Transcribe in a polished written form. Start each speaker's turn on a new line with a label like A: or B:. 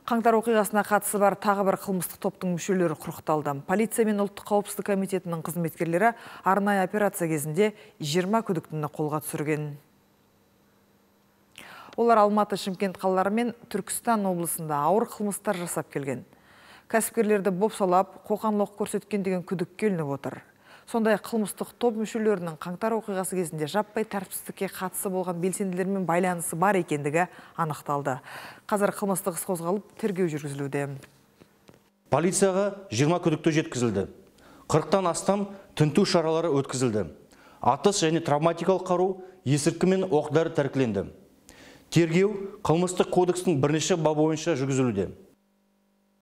A: Қаңтар оқиғасына қатысы бар тағы бір қылмыстық топтың мүшелері құрықталды. Полиция мен ұлттық қауіпсіздік комитетінің қызметкерлері арнайы операция кезінде 20 күдіктіні қолға түсірген. Олар Алматы, Шымкент қалалары мен Түркістан облысында ауыр қылмыстар жасап келген. Кәсіпкерлерді бопсалап, қоқан-лоқ көрсеткен деген күдікке ілініп отыр. Сондай қылмыстық топ мүшелерінің қаңтар оқиғасы кезінде жаппай тәртіпсіздікке қатысы болған белсенділермен байланысы бар екендігі анықталды. Қазір қылмыстық іс қозғалып, тергеу жүргізілуде.
B: Полицияға 20 күдікті жеткізілді. 40-тан астам тінту шаралары өткізілді. Атыс және травматикалық қару, есірткі мен оқ-дәрі тәркіленді. Тергеу қылмыстық кодекстің бірнеше бабы бойынша жүргізілуде.